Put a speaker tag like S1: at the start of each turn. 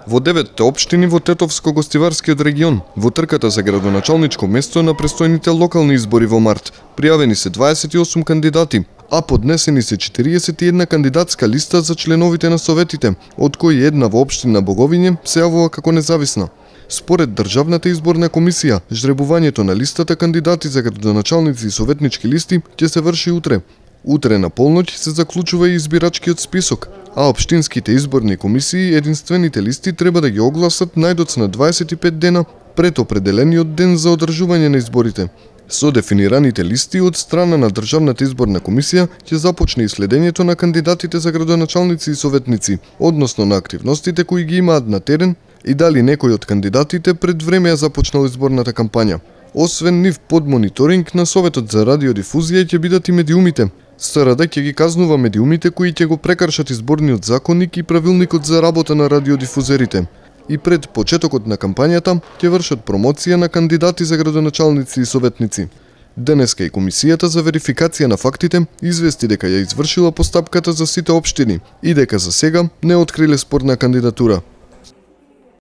S1: Во 9 општини во Тетовско-гостиварскиот регион, во трката за градоначалничко место на престојните локални избори во март, пријавени се 28 кандидати, а поднесени се 41 кандидатска листа за членовите на советите, од кои една во општина Боговиње се јавува како независна. Според Државната изборна комисија, жребувањето на листата кандидати за градоначалници и советнички листи ќе се врши утре. Утре на полноќ се заклучува и избирачкиот список, а општинските изборни комисии единствените листи треба да ги огласат најдоцна 25 дена пред определениот ден за одржување на изборите. Со дефинираните листи од страна на Државната изборна комисија ќе започне и следењето на кандидатите за градоначалници и советници, односно на активностите кои ги имаат на терен и дали некој од кандидатите пред време ја започнал изборната кампања. Освен нив под мониторинг на Советот за радиодифузија ќе бидат и медиумите. СРД ќе ги казнува медиумите кои ќе го прекршат изборниот законник и правилникот за работа на радиодифузерите. И пред почетокот на кампањата ќе вршат промоција на кандидати за градоначалници и советници. Денеска и Комисијата за верификација на фактите извести дека ја извршила постапката за сите општини и дека за сега не откриле спорна кандидатура.